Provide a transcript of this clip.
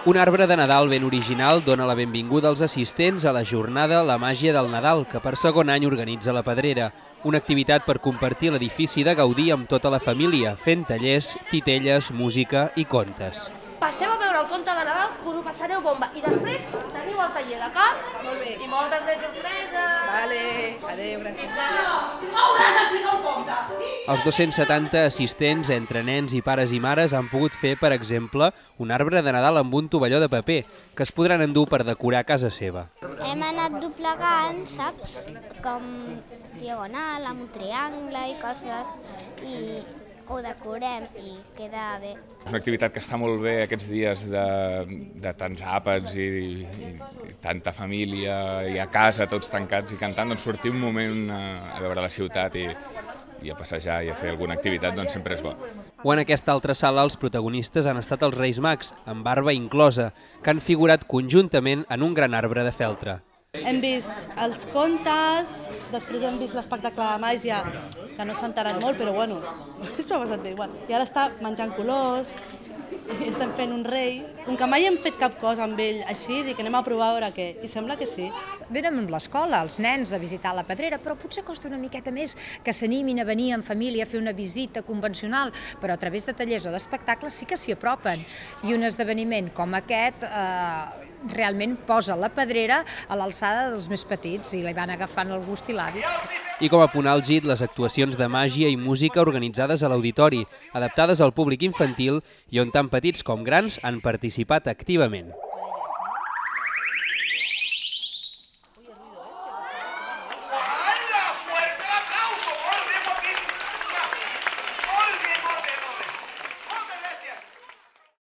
Un arbre de Nadal ben original dona la benvinguda als assistents a la jornada La Màgia del Nadal, que per segon any organitza la Pedrera. Una activitat per compartir l'edifici de Gaudí amb tota la família, fent tallers, titelles, música i contes. Passeu a veure el conte de Nadal, que us ho passareu bomba. I després teniu el taller, d'acord? Molt bé. I moltes més sorpreses. Vale, adéu, gràcies. Hauràs d'explicar un conte! Els 270 assistents, entre nens i pares i mares, han pogut fer, per exemple, un arbre de Nadal amb un tovalló de paper, que es podran endur per decorar casa seva. Hem anat doblegant, saps? Com diagonal, amb un triangle i coses, i ho decorem i queda bé. És una activitat que està molt bé aquests dies de tants àpats i tanta família i a casa tots tancats i cantant, doncs sortir un moment a veure la ciutat i a passejar i a fer alguna activitat doncs sempre és bo. O en aquesta altra sala els protagonistes han estat els Reis Mags, amb barba inclosa, que han figurat conjuntament en un gran arbre de feltre. Hem vist els contes, després hem vist l'espectacle de màgia, que no s'ha enterat molt, però bueno, s'ho ha passat bé igual. I ara està menjant colors, i estem fent un rei, com que mai hem fet cap cosa amb ell així, dic que anem a provar a veure què, i sembla que sí. Venen amb l'escola, els nens, a visitar la Pedrera, però potser costa una miqueta més que s'animin a venir en família a fer una visita convencional, però a través de tallers o d'espectacles sí que s'hi apropen. I un esdeveniment com aquest realment posa la Pedrera a l'alçada dels més petits i li van agafant el gust i l'hàbit. I com a punt àlgid, les actuacions de màgia i música organitzades a l'auditori, adaptades al públic infantil i on tant petits com grans han participat activament.